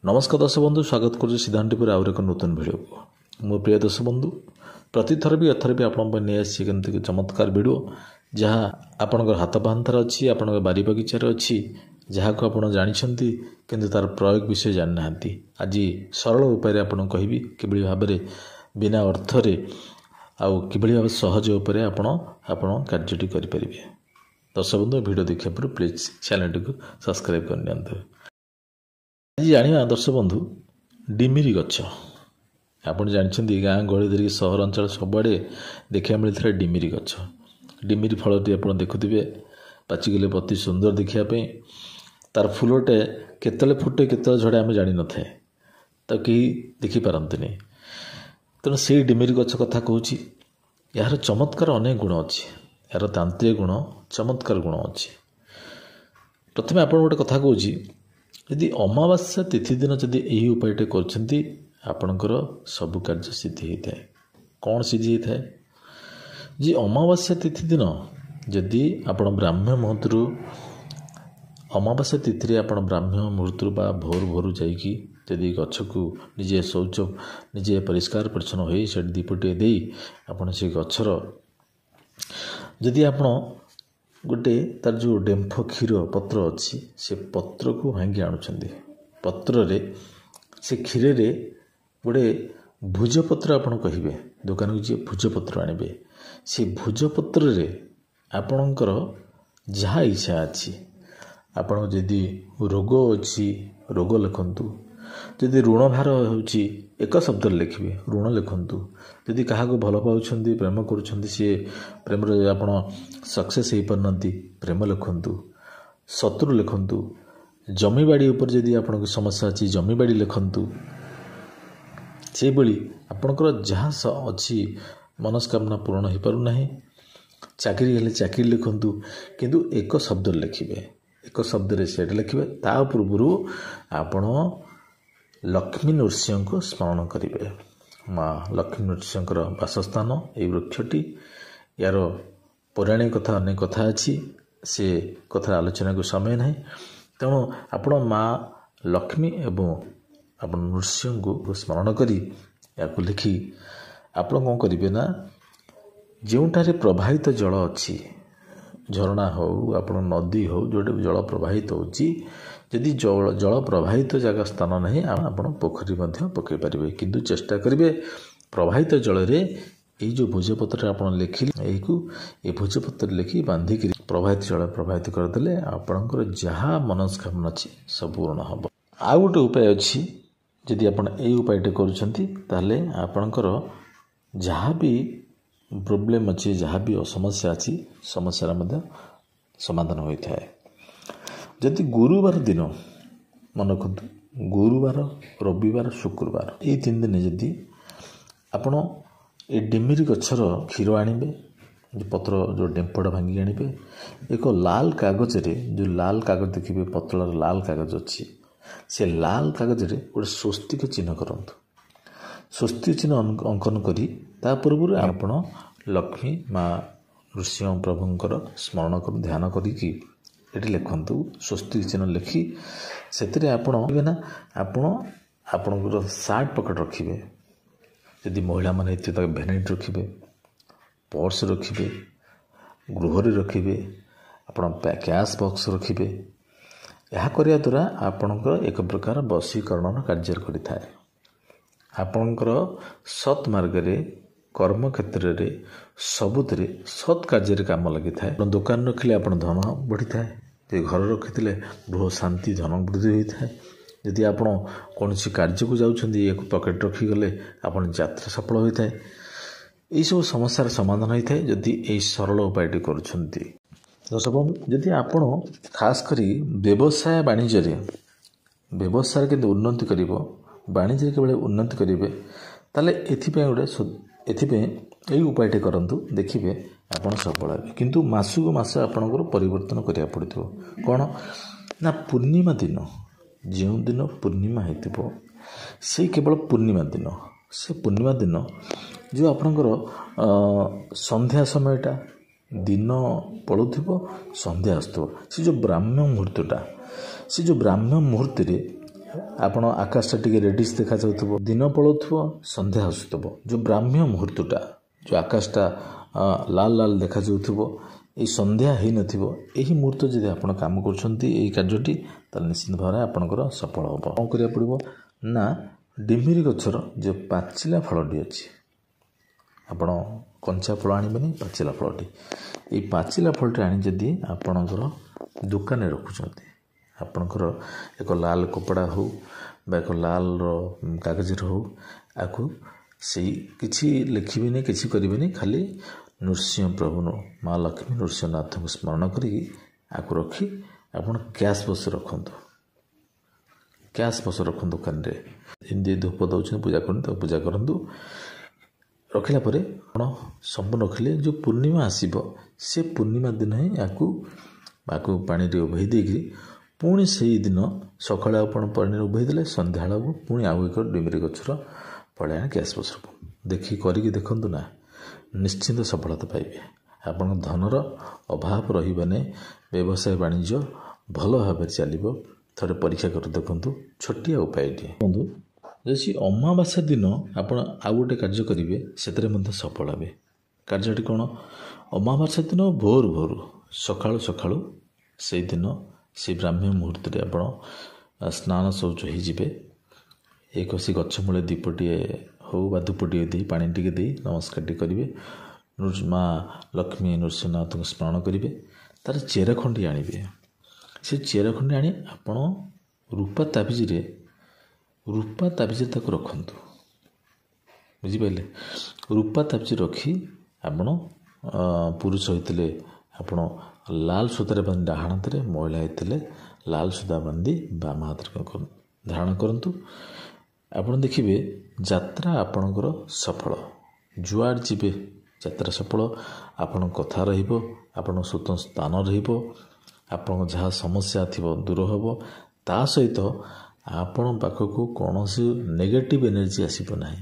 ନମସ୍କାର ଦର୍ଶକ ବନ୍ଧୁ, ସ୍ୱାଗତ କରୁଛି ସିଦ୍ଧାନ୍ତ ଟିଭିର ଆହୁରି ଏକ ନୂତନ ଭିଡ଼ିଓକୁ। ମୋ ପ୍ରିୟ ଦର୍ଶକ ବନ୍ଧୁ, ପ୍ରତିଥର ବି ଏଥର ବି ଆପଣଙ୍କ ପାଇଁ ନେଇ ଆସିଛି କେମିତି ଚମତ୍କାର ଭିଡ଼ିଓ, ଯାହା ଆପଣଙ୍କର ହାତ ପାହାନ୍ତାରେ ଅଛି, ଆପଣଙ୍କ ବାରି ବଗିଚାରେ ଅଛି, ଯାହାକୁ ଆପଣ ଜାଣିଛନ୍ତି କିନ୍ତୁ ତା'ର ପ୍ରୟୋଗ ବିଷୟ ଜାଣିନାହାନ୍ତି। ଆଜି ସରଳ ଉପାୟରେ ଆପଣଙ୍କୁ କହିବି କିଭଳି ଭାବରେ ବିନା ଅର୍ଥରେ ଆଉ କିଭଳି ଭାବେ ସହଜ ଉପରେ ଆପଣ ଆପଣ କାର୍ଯ୍ୟଟି କରିପାରିବେ। ଦର୍ଶକ ବନ୍ଧୁ, ଭିଡ଼ିଓ ଦେଖିବା ପୂର୍ବରୁ ପ୍ଲିଜ୍ ଚ୍ୟାନେଲଟିକୁ ସବସ୍କ୍ରାଇବ୍ କରିନିଅନ୍ତୁ। ଆଜି ଜାଣିବା ଦର୍ଶକ ବନ୍ଧୁ, ଡିମିରି ଗଛ। ଆପଣ ଜାଣିଛନ୍ତି ଗାଁ ଗହଳି ଧରିକି ସହରାଞ୍ଚଳ ସବୁଆଡ଼େ ଦେଖିବାକୁ ମିଳିଥାଏ ଡିମିରି ଗଛ। ଡିମିରି ଫଳଟି ଆପଣ ଦେଖୁଥିବେ ପାଚିଗଲେ ଅତି ସୁନ୍ଦର ଦେଖିବା ପାଇଁ। ତାର ଫୁଲଟେ କେତେବେଳେ ଫୁଟେ କେତେବେଳେ ଝଡ଼େ ଆମେ ଜାଣିନଥାଏ, ତାକୁ କେହି ଦେଖିପାରନ୍ତିନି। ତେଣୁ ସେଇ ଡିମିରି ଗଛ କଥା କହୁଛି। ଏହାର ଚମତ୍କାର ଅନେକ ଗୁଣ ଅଛି, ଏହାର ତାନ୍ତ୍ରିକ ଗୁଣ, ଚମତ୍କାର ଗୁଣ ଅଛି। ପ୍ରଥମେ ଆପଣ ଗୋଟେ କଥା କହୁଛି, ଯଦି ଅମାବାସ୍ୟା ତିଥି ଦିନ ଯଦି ଏହି ଉପାୟଟି କରୁଛନ୍ତି, ଆପଣଙ୍କର ସବୁ କାର୍ଯ୍ୟ ସିଦ୍ଧି ହୋଇଥାଏ। କ'ଣ ସିଦ୍ଧି ହୋଇଥାଏ? ଯେ ଅମାବାସ୍ୟା ତିଥି ଦିନ ଯଦି ଆପଣ ବ୍ରାହ୍ମ ମୁହୂର୍ତ୍ତରୁ, ଅମାବାସ୍ୟା ତିଥିରେ ଆପଣ ବ୍ରାହ୍ମ ମୁହୂର୍ତ୍ତରୁ ବା ଭୋରୁ ଭୋରୁ ଯାଇକି ଯଦି ଗଛକୁ ନିଜେ ଶୌଚ, ନିଜେ ପରିଷ୍କାର ପରିଚ୍ଛନ୍ନ ହୋଇ ସେଠି ଦୀପଟିଏ ଦେଇ ଆପଣ ସେ ଗଛର ଯଦି ଆପଣ ଗୋଟେ ତାର ଯେଉଁ ଡେମ୍ଫ କ୍ଷୀର ପତ୍ର ଅଛି, ସେ ପତ୍ରକୁ ଭାଙ୍ଗି ଆଣୁଛନ୍ତି, ପତ୍ରରେ ସେ କ୍ଷୀରରେ ଗୋଟେ ଭୁଜପତ୍ର ଆପଣ କହିବେ, ଦୋକାନକୁ ଯିଏ ଭୁଜପତ୍ର ଆଣିବେ, ସେ ଭୁଜପତ୍ରରେ ଆପଣଙ୍କର ଯାହା ଇଚ୍ଛା ଅଛି, ଆପଣଙ୍କ ଯଦି ରୋଗ ଅଛି ରୋଗ ଲେଖନ୍ତୁ, ଯଦି ଋଣ ଭାର ହେଉଛି ଏକ ଶବ୍ଦରେ ଲେଖିବେ ଋଣ ଲେଖନ୍ତୁ, ଯଦି କାହାକୁ ଭଲ ପାଉଛନ୍ତି ପ୍ରେମ କରୁଛନ୍ତି ସିଏ ପ୍ରେମରେ ଆପଣ ସକ୍ସେସ୍ ହେଇପାରୁନାହାନ୍ତି ପ୍ରେମ ଲେଖନ୍ତୁ, ଶତ୍ରୁ ଲେଖନ୍ତୁ, ଜମିବାଡ଼ି ଉପରେ ଯଦି ଆପଣଙ୍କ ସମସ୍ୟା ଅଛି ଜମିବାଡ଼ି ଲେଖନ୍ତୁ। ସେହିଭଳି ଆପଣଙ୍କର ଯାହା ଅଛି ମନସ୍କାମନା ପୂରଣ ହୋଇପାରୁନାହିଁ, ଚାକିରି ହେଲେ ଚାକିରି ଲେଖନ୍ତୁ, କିନ୍ତୁ ଏକ ଶବ୍ଦରେ ଲେଖିବେ, ଏକ ଶବ୍ଦରେ ସେଇଟା ଲେଖିବେ। ତା ପୂର୍ବରୁ ଆପଣ ଲକ୍ଷ୍ମୀ ନୃସିଂହଙ୍କୁ ସ୍ମରଣ କରିବେ। ମା ଲକ୍ଷ୍ମୀ ନୃସିଂହଙ୍କର ବାସସ୍ଥାନ ଏଇ ବୃକ୍ଷଟି। ଏହାର ପୌରାଣିକ କଥା ଅନେକ କଥା ଅଛି, ସେ କଥାର ଆଲୋଚନାକୁ ସମୟ ନାହିଁ। ତେଣୁ ଆପଣ ମା ଲକ୍ଷ୍ମୀ ଏବଂ ଆପଣ ନୃସିଂହଙ୍କୁ ସ୍ମରଣ କରି ଏହାକୁ ଲେଖି ଆପଣ କ'ଣ କରିବେ ନା, ଯେଉଁଠାରେ ପ୍ରବାହିତ ଜଳ ଅଛି, ଝରଣା ହେଉ ଆପଣ ନଦୀ ହେଉ, ଯେଉଁଠି ଜଳ ପ୍ରବାହିତ ହେଉଛି, ଯଦି ଜଳ ପ୍ରବାହିତ ଜାଗା ସ୍ଥାନ ନାହିଁ ଆପଣ ପୋଖରୀ ମଧ୍ୟ ପକାଇ ପାରିବେ, କିନ୍ତୁ ଚେଷ୍ଟା କରିବେ ପ୍ରବାହିତ ଜଳରେ ଏଇ ଯେଉଁ ଭୋଜପତ୍ରରେ ଆପଣ ଲେଖିଲେ, ଏଇକୁ ଏ ଭୋଜପତ୍ରରେ ଲେଖି ବାନ୍ଧିକିରି ପ୍ରବାହିତ ଜଳ ପ୍ରବାହିତ କରିଦେଲେ ଆପଣଙ୍କର ଯାହା ମନସ୍କାମନା ଅଛି ସବୁ ପୂରଣ ହେବ। ଆଉ ଗୋଟେ ଉପାୟ ଅଛି, ଯଦି ଆପଣ ଏଇ ଉପାୟଟି କରୁଛନ୍ତି ତାହେଲେ ଆପଣଙ୍କର ଯାହା ବି ପ୍ରୋବ୍ଲେମ୍ ଅଛି, ଯାହା ବି ସମସ୍ୟା ଅଛି, ସମସ୍ୟାର ମଧ୍ୟ ସମାଧାନ ହୋଇଥାଏ। ଯଦି ଗୁରୁବାର ଦିନ, ମନେ ରଖନ୍ତୁ ଗୁରୁବାର, ରବିବାର, ଶୁକ୍ରବାର ଏଇ 3 ଦିନ ଯଦି ଆପଣ ଏ ଡିମିରି ଗଛର କ୍ଷୀର ଆଣିବେ, ପତ୍ର ଯେଉଁ ଡେମ୍ଫଟା ଭାଙ୍ଗିକି ଆଣିବେ, ଏକ ଲାଲ କାଗଜରେ, ଯେଉଁ ଲାଲ କାଗଜ ଦେଖିବେ ପତଳାର ଲାଲ କାଗଜ ଅଛି, ସେ ଲାଲ କାଗଜରେ ଗୋଟେ ସ୍ୱସ୍ତିକ ଚିହ୍ନ କରନ୍ତୁ। ସ୍ୱସ୍ତିକ ଚିହ୍ନ ଅଙ୍କନ କରି ତା ପୂର୍ବରୁ ଆପଣ ଲକ୍ଷ୍ମୀ ମା ନୃସିଂହ ପ୍ରଭୁଙ୍କର ସ୍ମରଣ କରନ୍ତୁ, ଧ୍ୟାନ କରିକି ଏଠି ଲେଖନ୍ତୁ ସ୍ୱସ୍ତିକ ଚିହ୍ନ ଲେଖି ସେଥିରେ ଆପଣ ନା ଆପଣ ଆପଣଙ୍କର ସାର୍ଟ ପକେଟ୍ ରଖିବେ, ଯଦି ମହିଳାମାନେ ହେଇଥିବେ ତାକୁ ଭ୍ୟାନିଟି ରଖିବେ, ପର୍ସ ରଖିବେ, ଗୃହରେ ରଖିବେ, ଆପଣ କ୍ୟାସ୍ ବକ୍ସ ରଖିବେ। ଏହା କରିବା ଦ୍ୱାରା ଆପଣଙ୍କର ଏକ ପ୍ରକାର ବଶୀକରଣର କାର୍ଯ୍ୟ କରିଥାଏ। ଆପଣଙ୍କର ସତ୍ ମାର୍ଗରେ, କର୍ମକ୍ଷେତ୍ରରେ, ସବୁଥିରେ ସତ୍ କାର୍ଯ୍ୟରେ କାମ ଲାଗିଥାଏ। ଆପଣ ଦୋକାନ ରଖିଲେ ଆପଣ ଧନ ବଢ଼ିଥାଏ, ଯଦି ଘର ରଖିଥିଲେ ଗୃହ ଶାନ୍ତି ଧନ ବୃଦ୍ଧି ହୋଇଥାଏ। ଯଦି ଆପଣ କୌଣସି କାର୍ଯ୍ୟକୁ ଯାଉଛନ୍ତି ଏହାକୁ ପକେଟ୍ ରଖିଗଲେ ଆପଣ ଯାତ୍ରା ସଫଳ ହୋଇଥାଏ। ଏହିସବୁ ସମସ୍ୟାର ସମାଧାନ ହୋଇଥାଏ ଯଦି ଏହି ସରଳ ଉପାୟଟି କରୁଛନ୍ତି। ଦର୍ଶକ ବନ୍ଧୁ, ଯଦି ଆପଣ ଖାସ୍ କରି ବ୍ୟବସାୟ ବାଣିଜ୍ୟରେ, ବ୍ୟବସାୟରେ କେମିତି ଉନ୍ନତି କରିବ, ବାଣିଜ୍ୟରେ କିଭଳି ଉନ୍ନତି କରିବେ, ତାହେଲେ ଏଥିପାଇଁ ଗୋଟେ ଏଥିପାଇଁ ଏଇ ଉପାୟଟି କରନ୍ତୁ, ଦେଖିବେ ଆପଣ ସଫଳ ହେବେ। କିନ୍ତୁ ମାସକୁ ମାସ ଆପଣଙ୍କର ପରିବର୍ତ୍ତନ କରିବାକୁ ପଡ଼ିଥିବ। କ'ଣ ନା ପୂର୍ଣ୍ଣିମା ଦିନ, ଯେଉଁଦିନ ପୂର୍ଣ୍ଣିମା ହେଇଥିବ ସେଇ କେବଳ ପୂର୍ଣ୍ଣିମା ଦିନ, ସେ ପୂର୍ଣ୍ଣିମା ଦିନ ଯେଉଁ ଆପଣଙ୍କର ସନ୍ଧ୍ୟା ସମୟଟା, ଦିନ ପଳୁଥିବ ସନ୍ଧ୍ୟା ଆସୁଥିବ, ସେ ଯେଉଁ ବ୍ରାହ୍ମ ମୁହୂର୍ତ୍ତଟା, ସେ ଯେଉଁ ବ୍ରାହ୍ମ ମୁହୂର୍ତ୍ତରେ ଆପଣ ଆକାଶଟା ଟିକେ ରେଡିସ୍ ଦେଖାଯାଉଥିବ, ଦିନ ପଳାଉଥିବ, ସନ୍ଧ୍ୟା ଆସୁଥିବ, ଯେଉଁ ବ୍ରାହ୍ମ୍ୟ ମୁହୂର୍ତ୍ତଟା, ଯେଉଁ ଆକାଶଟା ଲାଲ ଲାଲ ଦେଖାଯାଉଥିବ, ଏଇ ସନ୍ଧ୍ୟା ହେଇନଥିବ, ଏହି ମୁହୂର୍ତ୍ତ ଯଦି ଆପଣ କାମ କରୁଛନ୍ତି ଏଇ କାର୍ଯ୍ୟଟି, ତାହେଲେ ନିଶ୍ଚିତ ଭାବରେ ଆପଣଙ୍କର ସଫଳ ହେବ। କ'ଣ କରିବାକୁ ପଡ଼ିବ ନା, ଡିମିରି ଗଛର ଯେଉଁ ପାଚିଲା ଫଳଟି ଅଛି, ଆପଣ କଞ୍ଚା ଫଳ ଆଣିବେନି, ପାଚିଲା ଫଳଟି, ଏଇ ପାଚିଲା ଫଳଟି ଆଣି ଯଦି ଆପଣଙ୍କର ଦୋକାନରେ ରଖୁଛନ୍ତି, ଆପଣଙ୍କର ଏକ ଲାଲ କପଡ଼ା ହେଉ ବା ଏକ ଲାଲର କାଗଜରେ ହେଉ, ଆକୁ ସେଇ କିଛି ଲେଖିବେନି, କିଛି କରିବେନି, ଖାଲି ନୃସିଂହ ପ୍ରଭୁ ମା ଲକ୍ଷ୍ମୀ ନୃସିଂହନାଥଙ୍କୁ ସ୍ମରଣ କରିକି ଆକୁ ରଖି ଆପଣ କ୍ୟାସ୍ ବକ୍ସ ରଖନ୍ତୁ। କ୍ୟାସ୍ ବକ୍ସ ରଖନ୍ତୁ ଦୋକାନରେ, ଯେମିତି ଧୂପ ଦେଉଛନ୍ତି, ପୂଜା କରନ୍ତୁ, ତାକୁ ପୂଜା କରନ୍ତୁ। ରଖିଲା ପରେ ଆପଣ ସମ୍ପୂର୍ଣ୍ଣ ରଖିଲେ ଯେଉଁ ପୂର୍ଣ୍ଣିମା ଆସିବ, ସେ ପୂର୍ଣ୍ଣିମା ଦିନ ହିଁ ଆକୁ ପାଣିରେ ଉଭେଇ ଦେଇକିରି ପୁଣି ସେଇଦିନ ସକାଳେ ଆପଣ ପାଣିରେ ଉଭେଇ ଦେଲେ, ସନ୍ଧ୍ୟାବେଳକୁ ପୁଣି ଆଉ ଏକ ଡିମିରି ଗଛର ଫଳ ଆଣି କ୍ୟାସ୍ ବକ୍ସ ରଖନ୍ତୁ। ଦେଖି କରିକି ଦେଖନ୍ତୁ ନା, ନିଶ୍ଚିନ୍ତ ସଫଳତା ପାଇବେ। ଆପଣଙ୍କ ଧନର ଅଭାବ ରହିବନି, ବ୍ୟବସାୟ ବାଣିଜ୍ୟ ଭଲ ଭାବରେ ଚାଲିବ। ଥରେ ପରୀକ୍ଷା କରି ଦେଖନ୍ତୁ, ଛୋଟିଆ ଉପାୟଟିଏ। ବନ୍ଧୁ, ଯଦି ଅମାବାସ୍ୟା ଦିନ ଆପଣ ଆଉ ଗୋଟେ କାର୍ଯ୍ୟ କରିବେ, ସେଥିରେ ମଧ୍ୟ ସଫଳ ହେବେ। କାର୍ଯ୍ୟଟି କ'ଣ? ଅମାବାସ୍ୟା ଦିନ ଭୋରୁ ଭୋରୁ ସକାଳୁ ସକାଳୁ ସେଇଦିନ ସେଇ ବ୍ରାହ୍ମ୍ୟ ମୁହୂର୍ତ୍ତରେ ଆପଣ ସ୍ନାନ ଶୌଚ ହେଇଯିବେ। ଏକ ସେ ଗଛ ମୂଳେ ଦୀପଟିଏ ହେଉ ବା ଧୂପଟିଏ ଦେଇ ପାଣି ଟିକେ ଦେଇ ନମସ୍କାର ଟିକେ କରିବେ, ମା ଲକ୍ଷ୍ମୀ ନୃସିଂହନାଥଙ୍କୁ ସ୍ମରଣ କରିବେ। ତାର ଚେର ଖଣ୍ଡି ଆଣିବେ, ସେ ଚେର ଖଣ୍ଡି ଆଣି ଆପଣ ରୂପା ତାବିଜରେ ତାକୁ ରଖନ୍ତୁ। ବୁଝିପାରିଲେ? ରୂପା ତାବିଜ ରଖି ଆପଣ ପୁରୁଷ ହେଇଥିଲେ ଆପଣ ଲାଲ ସୂତାରେ ବାନ୍ଧି ଡାହାଣ ହାତରେ, ମହିଳା ହେଇଥିଲେ ଲାଲ ସୂତା ବାନ୍ଧି ବାମ ହାତରେ ଧାରଣ କରନ୍ତୁ। ଆପଣ ଦେଖିବେ ଯାତ୍ରା ଆପଣଙ୍କର ସଫଳ। ଯୁଆଡ଼େ ଯିବେ ଯାତ୍ରା ସଫଳ। ଆପଣଙ୍କ କଥା ରହିବ, ଆପଣଙ୍କ ସ୍ୱତନ୍ତ୍ର ସ୍ଥାନ ରହିବ, ଆପଣଙ୍କ ଯାହା ସମସ୍ୟା ଥିବ ଦୂର ହେବ। ତା ସହିତ ଆପଣଙ୍କ ପାଖକୁ କୌଣସି ନେଗେଟିଭ୍ ଏନର୍ଜି ଆସିବ ନାହିଁ।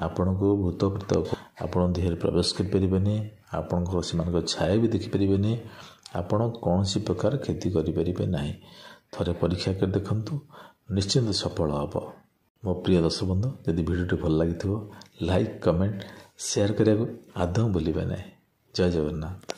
ଆପଣଙ୍କୁ ଭୂତ ପ୍ରେତ ଆପଣଙ୍କ ଦେହରେ ପ୍ରବେଶ କରିପାରିବେନି, ଆପଣଙ୍କର ସେମାନଙ୍କ ଛାୟା ବି ଦେଖିପାରିବେନି, ଆପଣ କୌଣସି ପ୍ରକାର କ୍ଷତି କରିପାରିବେ ନାହିଁ। ଥରେ ପରୀକ୍ଷା କରି ଦେଖନ୍ତୁ, ନିଶ୍ଚିନ୍ତ ସଫଳ ହେବ। ମୋ ପ୍ରିୟ ଦର୍ଶକ ବନ୍ଧୁ, ଯଦି ଭିଡ଼ିଓଟି ଭଲ ଲାଗିଥିବ ଲାଇକ୍, କମେଣ୍ଟ, ସେୟାର କରିବାକୁ ଆଦୌ ଭୁଲିବେ ନାହିଁ। ଜୟ ଜଗନ୍ନାଥ।